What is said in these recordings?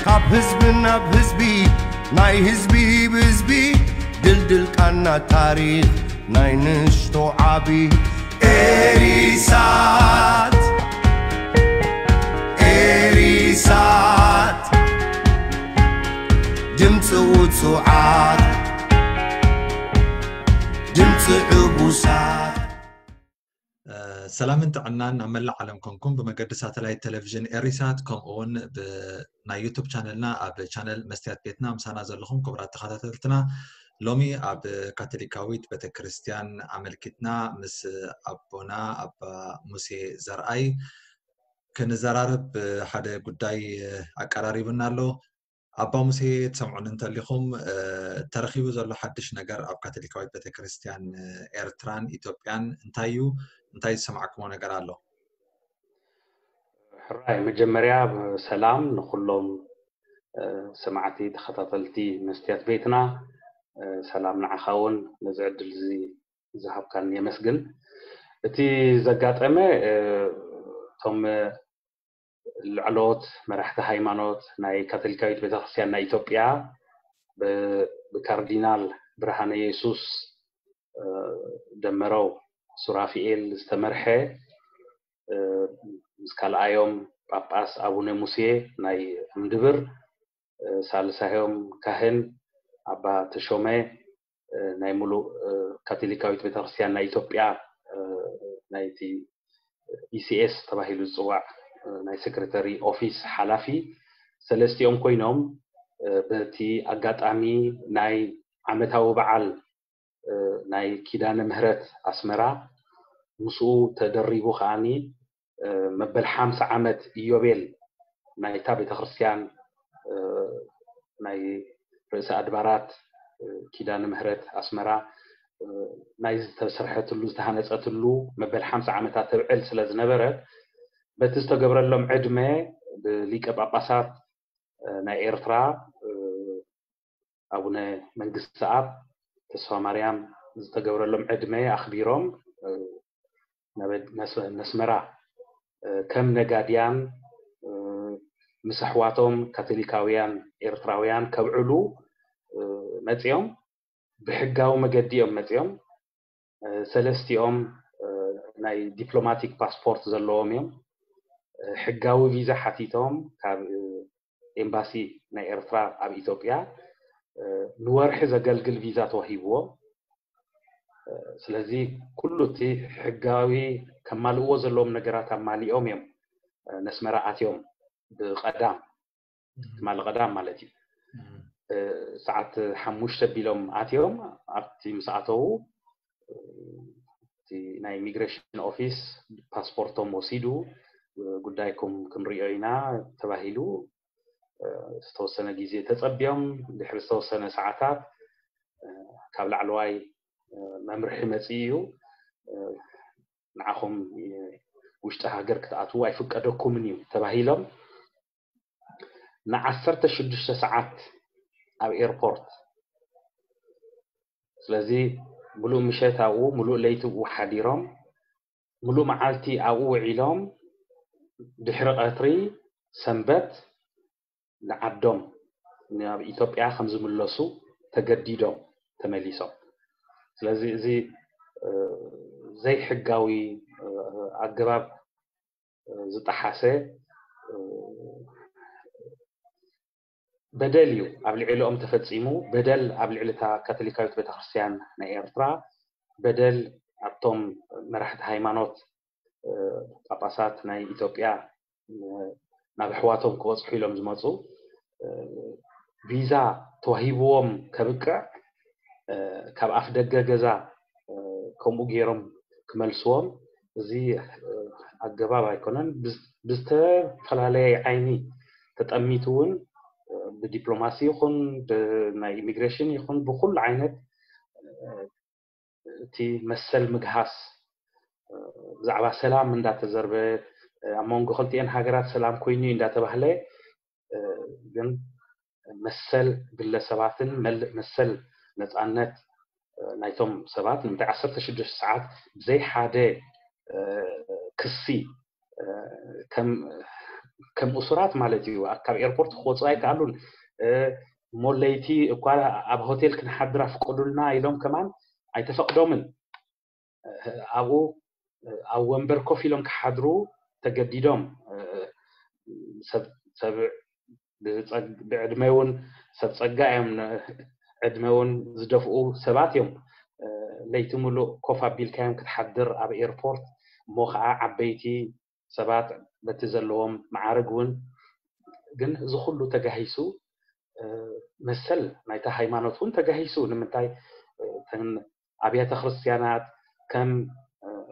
ካብ ህዝቢ ናብ ህዝቢ፣ ናይ ህዝቢ ብህዝቢ፣ ድልድል ቃና ታሪኽ ናይ ንእሽቶ ዓቢ። ኤሪሳት፣ ኤሪሳት፣ ድምፂ ውፁዓት፣ ድምፂ ዕቡሳት። ሰላምን ጥዕናን ናብ መላእ ዓለም ኮንኩም ብመገዲ ሳተላይት ቴሌቪዥን ኤሪሳት፣ ከምኡ እውን ናይ ዩቱብ ቻነልና ኣብ ቻነል መስትያት ቤትና ምሳና ዘለኹም ክቡራት ተኸታተልትና፣ ሎሚ ኣብ ካቶሊካዊት ቤተክርስትያን ኣመልኪትና ምስ ኣቦና ኣባ ሙሴ ዘርኣይ ክንዘራረብ ሓደ ጉዳይ ኣቀራሪቡና ኣሎ። ኣባ ሙሴ፣ ትሰምዑን እንተሊኹም፣ ተረኺቡ ዘሎ ሓድሽ ነገር ኣብ ካቶሊካዊት ቤተክርስትያን ኤርትራን ኢትዮጵያን እንታይ እዩ? እንታይ ዝሰማዕኩሞ ነገር ኣሎ? ሕራይ፣ መጀመርያ ሰላም ንኹሎም ሰማዕቲ ተኸታተልቲ መስትያት ቤትና። ሰላም ንዓኻ እውን፣ ነዚ ዕድል እዚ ዝሃብካን የመስግን። እቲ ዘጋጠመ፣ እቶም ላዕለዎት መራሕቲ ሃይማኖት ናይ ካቶሊካዊት ቤተክርስትያን ናይ ኢትዮጵያ ብ-፣ ብካርዲናል ብርሃነ የሱስ ደመረው ሱራፊኤል ዝተመርሐ፣ ምስ ካልኣዮም ጳጳስ ኣቡነ ሙሴ ናይ እምድብር፣ ሳልሳዮም ካህን ኣባ ተሾመ ናይ ሙሉእ ካቶሊካዊት ቤተክርስትያን ናይ ኢትዮጵያ፣ ናይቲ ኢሲኤስ ተባሂሉ ዝፅዋዕ ናይ ሴክሬታሪ ኦፊስ ሓላፊ፣ ሰለስቲኦም ኮይኖም በቲ ኣጋጣሚ ናይ ዓመታዊ በዓል ናይ ኪዳነ ምህረት ኣስመራ፣ ምስኡ ተደሪቡ ከዓኒ መበል ሓምሳ ዓመት ኢዮቤል ናይታ ቤተክርስትያን፣ ናይ ርእሰ ኣድባራት ኪዳነ ምህረት ኣስመራ ናይ ዝተሰርሐትሉ፣ ዝተሃነፀትሉ መበል ሓምሳ ዓመታት ተብዕል ስለ ዝነበረ፣ በቲ ዝተገብረሎም ዕድመ ብሊቀ ጳጳሳት ናይ ኤርትራ ኣቡነ መንግስተኣብ ተስፋማርያም ዝተገብረሎም ዕድመ ኣኽቢሮም፣ ናብ ኣድ-፣ ነስ-፣ ነስመራ፣ እ፣ ከም ነጋድያን፣ እ፣ ምስ ኣሕዋቶም ካቶሊካውያን ኤርትራውያን ከብዕሉ፣ እ፣ መጺኦም። ብሕጋዊ መገዲ እዮም መጺኦም። እ፣ ሰለስቲኦም፣ እ፣ ናይ ዲፕሎማቲክ ፓስፖርት ዘለዎም እዮም። እ፣ ሕጋዊ ቪዛ ሓቲቶም ካብ፣ እ፣ ኤምባሲ ናይ ኤርትራ ኣብ ኢትዮጵያ፣ እ፣ ንወርሒ ዘገልግል ቪዛ ተዋሂብዎም። እ፣ ስለዚ ኩሉ እቲ ሕጋዊ ከማልእዎ ዘለዎም ነገራት ኣማሊኦም እዮም፣ እ፣ ነስመራ ኣትዮም ብቐዳም፣ እም። ትማሊ ቀዳም ማለት እዩ። እም። እ፣ ሰዓት ሓሙሽተ ቢሎም ኣትዮም። ኣብቲ ምስ ኣተዉ፣ እ፣ እቲ ናይ ኢሚግሬሽን ኦፊስ ፓስፖርቶም ወሲዱ፣ እ፣ ጉዳይኩም ክንሪኦ ኢና ተባሂሉ፣ እ፣ ዝተወሰነ ግዜ ተጸብዮም፣ ድሕሪ ዝተወሰነ ሰዓታት፣ እ፣ ካብ ላዕለዋይ፣ እ፣ መምርሒ መጺኡ እዩ። እ፣ ንዓኹም፣ እ፣ ውሽጢ ሃገር ክትኣትዉ ኣይፍቀደኩምን እዩ ተባሂሎም ንዓሰርተ ሽዱሽተ ሰዓት ኣብ ኤርፖርት። ስለዚ ምሉእ ምሸት ኣብኡ፣ ምሉእ ለይቲ ኣብኡ ሓዲሮም፣ ምሉእ መዓልቲ ኣብኡ ውዒሎም፣ ድሕሪ ቀትሪ ሰንበት ንዓዶም፣ ናብ ኢትዮጵያ ከም ዝምለሱ ተገዲዶም ተመሊሶም። ስለዚ እዚ፣ እ፣ ዘይሕጋዊ፣ እ፣ ኣገባብ፣ እ፣ ዝጠሓሰ፣ እ፣ በደል እዩ ኣብ ልዕሊኦም ተፈጺሙ። በደል ኣብ ልዕሊ እታ ካቶሊካዊት ቤተክርስትያን ናይ ኤርትራ፣ በደል ኣብቶም መራሕቲ ሃይማኖት፣ እ፣ ጳጳሳት ናይ ኢትዮጵያ፣ እ፣ ናብ ኣሕዋቶም ክበጽሑ ኢሎም ዝመጹ፣ እ፣ ቪዛ ተዋሂብዎም ከብቅዕ፣ እ፣ ካብ ኣፍ ደገ ገዛ፣ እ፣ ከምኡ ገይሮም ክመልስዎም፣ እዚ፣ እ፣ ኣገባብ ኣይኮነን። ብዝ-፣ ብዝተፈላለየ ዓይኒ ተጠሚቱ እውን፣ እ፣ ብዲፕሎማሲ ይኹን፣ ብ-፣ ናይ ኢሚግሬሽን ይኹን፣ ብኹሉ ዓይነት፣ እ፣ እቲ መሰል ምግሃስ፣ እ፣ ብዛዕባ ሰላም እንዳተዘርበ፣ እ፣ ኣብ መንጎ ክልቲኤን ሃገራት ሰላም ኮይኑ እዩ እንዳተባህለ፣ እ፣ ግን መሰል ግለሰባትን መል-፣ መሰል ነጻነት፣ እ፣ ናይቶም ሰባት ንምንታይ ዓሰርተ ሽዱሽተ ሰዓት ብዘይ ሓደ፣ እ፣ ክሲ፣ እ፣ ከም ከም እሱራት ማለት እዩ። ካብ ኤርፖርት ክወፁ ኣይከኣሉን። እሞ ለይቲ እኳ ኣብ ሆቴል ክንሓድር ኣፍቀዱልና ኢሎም ከማን ኣይተፈቅዶምን። ኣብኡ ኣብ ወንበር ኮፍ ኢሎም ክሓድሩ ተገዲዶም። ሰብ ሰብ ብዕድመ እውን ሰብ ፀጋ እዮም፣ ዕድመ እውን ዝደፍኡ ሰባት እዮም። ለይቲ ሙሉእ ኮፍ ኣቢልካዮም ክትሓድር ኣብ ኤርፖርት፣ እሞ ከዓ ዓበይቲ ሰባት በቲ ዘለዎም መዓርግ እውን። ግን እዚ ኩሉ ተጋሂሱ መሰል ናይታ ሃይማኖት እውን ተጋሂሱ። ንምንታይ ኣብያተ ክርስትያናት ከም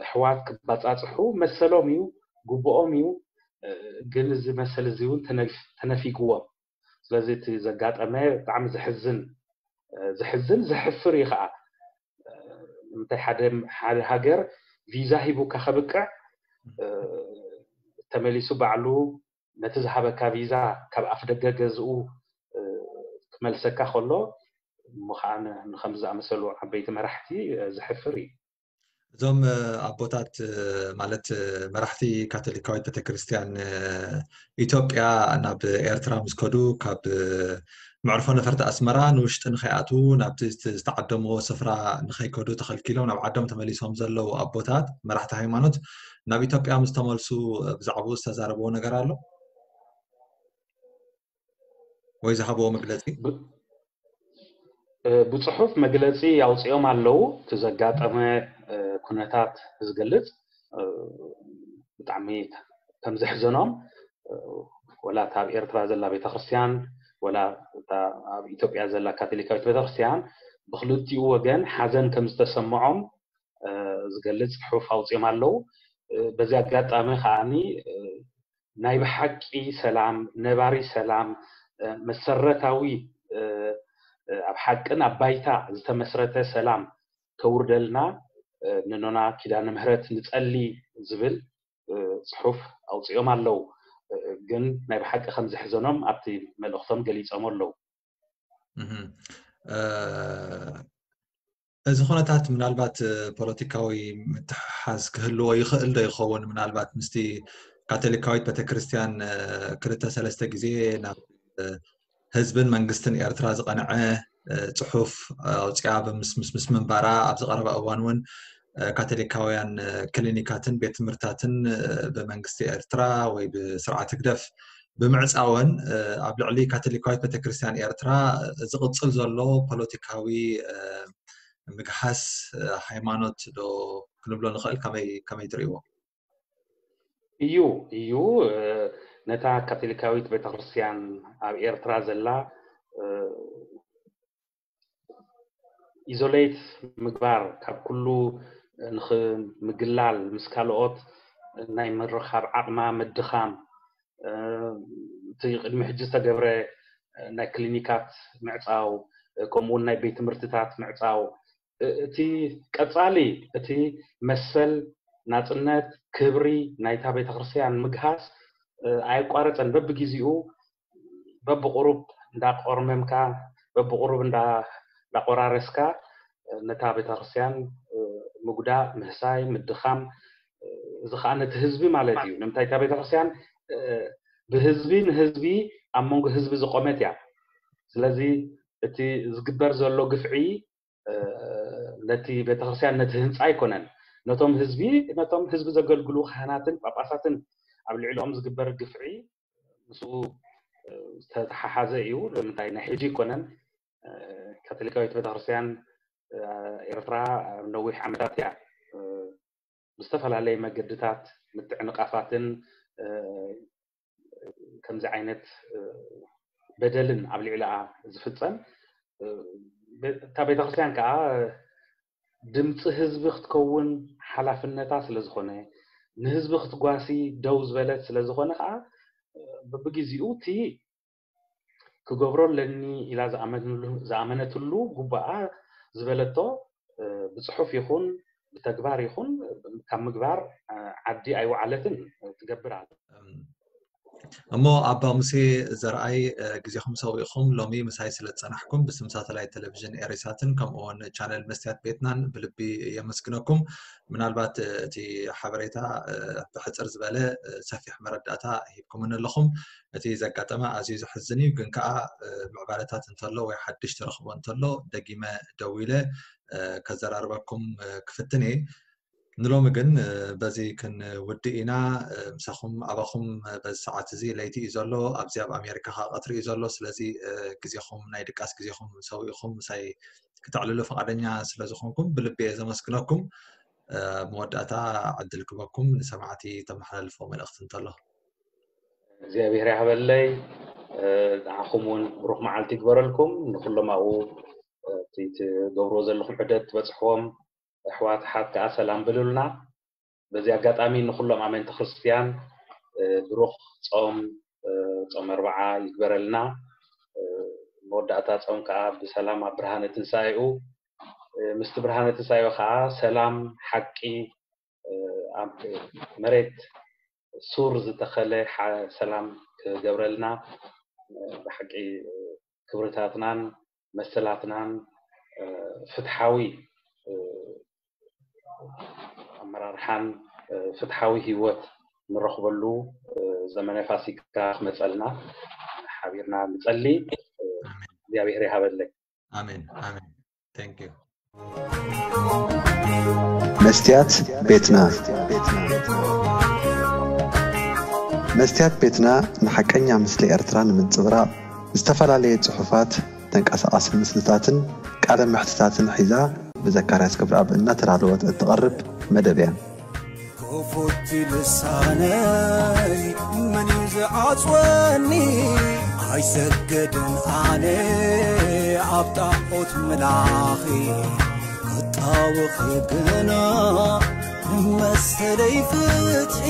ኣሕዋት ክባፃፅሑ መሰሎም እዩ፣ ግቡኦም እዩ። ግን እዚ መሰል እዚ እውን ተነፊግዎም። ስለዚ እቲ ዘጋጠመ ብጣዕሚ ዘሕዝን፣ ዘሕዝን ዘሕፍር እዩ ከዓ። ንምንታይ ሓደ ሓደ ሃገር ቪዛ ሂቡካ ከብቅዕ ተመሊሱ ባዕሉ ነቲ ዝሃበካ ቪዛ ካብ ኣፍ ደገ ገዝኡ ክመልሰካ ከሎ፣ እሞ ከዓ ንከምዚ ዝኣመሰሉ ዓበይቲ መራሕቲ ዘሕፍር እዩ። እዞም ኣቦታት ማለት መራሕቲ ካቶሊካዊት ቤተክርስትያን ኢትዮጵያ ናብ ኤርትራ ምስ ከዱ ካብ መዕርፎ ነፈርቲ ኣስመራ ንውሽጢ ንኸይኣትዉ ናብቲ ዝተዓደምዎ ስፍራ ንኸይከዱ ተኸልኪሎም ናብ ዓዶም ተመሊሶም ዘለዉ ኣቦታት መራሕቲ ሃይማኖት ናብ ኢትዮጵያ ምስ ተመልሱ ብዛዕባኡ ዝተዛረብዎ ነገር ኣሎ ወይ ዝሃብዎ መግለፂ? ብፅሑፍ መግለፂ ኣውፂኦም ኣለዉ። እቲ ዘጋጠመ ኩነታት ዝገልፅ ብጣዕሚ ከም ዘሕዘኖም፣ ወላ እታ ኣብ ኤርትራ ዘላ ቤተክርስትያን ወላ እታ ኣብ ኢትዮጵያ ዘላ ካቶሊካዊት ቤተክርስትያን ብክልቲኡ ወገን ሓዘን ከም ዝተሰምዖም ዝገልፅ ፅሑፍ ኣውፂኦም ኣለዉ። በዚ ኣጋጣሚ ከዓኒ ናይ ብሓቂ ሰላም፣ ነባሪ ሰላም፣ መሰረታዊ ኣብ ሓቅን ኣብ ባይታ ዝተመስረተ ሰላም ከውርደልና ንኖና ኪዳነ ምህረት ንፀሊ ዝብል ፅሑፍ ኣውፂኦም ኣለዉ። ግን ናይ ብሓቂ ከም ዘሕዘኖም ኣብቲ መልእኽቶም ገሊፆም ኣለዉ። እዚ ኩነታት ምናልባት ፖለቲካዊ ምትሕሓዝ ክህልዎ ይኽእል ዶ ይኸውን? ምናልባት ምስቲ ካቶሊካዊት ቤተክርስትያን ክልተ ሰለስተ ግዜ ናብ ህዝብን መንግስትን ኤርትራ ዝቐንዐ ፅሑፍ ኣውፅኣ ብምስምስ ምስ ምንባራ ኣብዚ ቀረባ እዋን እውን ካቶሊካውያን ክሊኒካትን ቤት ትምህርትታትን ብመንግስቲ ኤርትራ ወይ ብስርዓት ህግደፍ ብምዕፃወን ኣብ ልዕሊ ካቶሊካዊት ቤተክርስትያን ኤርትራ ዝቕፅል ዘሎ ፖለቲካዊ ምግሃስ ሃይማኖት ዶ ክንብሎ ንኽእል? ከመይ ትርእይዎ? እዩ እዩ ነታ ካቶሊካዊት ቤተክርስትያን ኣብ ኤርትራ ዘላ ኢዞሌት ምግባር፣ ካብ ኩሉ ንምግላል፣ ምስ ካልኦት ናይ ምርኻብ ዓቕማ ምድኻም፣ እቲ ቅድሚ ሕጂ ዝተገብረ ናይ ክሊኒካት ምዕፃው፣ ከምኡውን ናይ ቤት ትምህርትታት ምዕፃው፣ እቲ ቀፃሊ እቲ መሰል፣ ናፅነት፣ ክብሪ ናይታ ቤተክርስትያን ምግሃስ ኣየቋረፀን። በብግዜኡ በብቁሩብ እንዳቆርመምካ በብቁሩብ እንዳቆራረስካ ነታ ቤተክርስትያን ምጉዳእ፣ ምህሳይ፣ ምድኻም፣ እዚ ከዓ ነቲ ህዝቢ ማለት እዩ። ንምንታይ እታ ቤተክርስትያን ብህዝቢ ንህዝቢ ኣብ መንጎ ህዝቢ ዝቆመት እያ። ስለዚ እቲ ዝግበር ዘሎ ግፍዒ ነቲ ቤተክርስትያን ነቲ ህንፃ ኣይኮነን፣ ነቶም ህዝቢ ነቶም ህዝቢ ዘገልግሉ ካህናትን ጳጳሳትን ኣብ ልዕሊኦም ዝግበር ግፍዒ ምስኡ ዝተተሓሓዘ እዩ። ንምንታይ ናይ ሕጂ ኣይኮነን። ካቶሊካዊት ቤተክርስትያን ኤርትራ ነዊሕ ዓመታት እያ ብዝተፈላለየ መገድታት ምትዕንቓፋትን ከምዚ ዓይነት በደልን ኣብ ልዕሊኣ ዝፍፀም፣ እታ ቤተክርስትያን ከዓ ድምፂ ህዝቢ ክትከውን ሓላፍነታ ስለዝኾነ፣ ንህዝቢ ክትጓሲ ደው ዝበለት ስለዝኾነ ከዓ በብግዜኡ እቲ ክገብሮ ኣለኒ ኢላ ዝኣመነትሉ ግቡኣ ዝበለቶ ብፅሑፍ ይኹን ብተግባር ይኹን ካብ ምግባር ዓዲ ኣይወዓለትን። ትገብር ኣላ። እሞ ኣባ ሙሴ ዘርኣይ፣ ግዜኹም ሰዊእኹም ሎሚ ምሳይ ስለ ዝጸናሕኩም ብስም ሳተላይት ቴሌቪዥን ኤሪሳትን ከምኡ እውን ቻነል መስትያት ቤትናን ብልቢ የመስግነኩም። ምናልባት እቲ ሓበሬታ ብሕጽር ዝበለ ሰፊሕ መረዳእታ ሂብኩምን ኣለኹም። እቲ ዘጋጠመ ኣዝዩ ዘሕዝን እዩ፣ ግን ከኣ ምዕባለታት እንተሎ ወይ ሓድሽ ተረኽቦ እንተሎ ደጊመ ደዊለ ከዘራርበኩም ክፍትን እየ። ንሎሚ ግን በዚ ክንውድእ ኢና። ምሳኹም ኣባኹም በዚ ሰዓት እዚ ለይቲ እዩ ዘሎ፣ ኣብዚ ኣብ ኣሜሪካ ከዓ ቀትሪ እዩ ዘሎ። ስለዚ ግዜኹም፣ ናይ ድቃስ ግዜኹም ሰዊእኹም ምሳይ ክተዕልሉ ፈቓደኛ ስለ ዝኾንኩም ብልቢ እየ ዘመስግነኩም። ኣብ መወዳእታ ዕድል ክበኩም ንሰማዕቲ ተመሓላልፎ መልእኽቲ እንተሎ። እግዚኣብሔር ያህበለይ። ንዓኹም እውን ብሩኽ መዓልቲ ይግበረልኩም። ንኩሎም ኣብኡ እቲ ትገብርዎ ዘለኹም ዑደት ትበፅሕዎም ኣሕዋት ኣሓት ከዓ ሰላም ብሉልና። በዚ ኣጋጣሚ ንኩሎም ኣመንቲ ክርስትያን ብሩኽ ጾም፣ ጾም ኣርብዓ ይግበረልና። መወዳእታ ጾም ከዓ ብሰላም ኣብ ብርሃነ ትንሳኤኡ፣ ምስቲ ብርሃነ ትንሳኤኡ ከዓ ሰላም፣ ሓቂ ኣብ መሬት ሱር ዝተኸለ ሰላም ክገብረልና። ብሓቂ ክብርታትናን መሰላትናን ፍትሓዊ ኣመራርሓን ፍትሓዊ ህይወት ንረኽበሉ ዘመነ ፋሲካ ክመፀልና ሓቢርና ንፀሊ። እግዚኣብሔር ይሃበለይ። ኣሜን ኣሜን። Thank you። መስትያት ቤትና። መስትያት ቤትና ንሓቀኛ ምስሊ ኤርትራ ንምንጽብራቕ ዝተፈላለየ ጽሑፋት፣ ተንቀሳቓሲ ምስልታትን ቃለ መሕትታትን ሒዛ ብዘካርያስ ክብረኣብ እናተዳለወት እትቐርብ መደብ እያ። ክፉት ልሳነይ መን እዩ ዝዓጽወኒ? ኣይሰግድን ኣነ ኣብ ጣዖት ምላኺ፣ ክጣወኺ ግና መሰለይ ፍትሒ።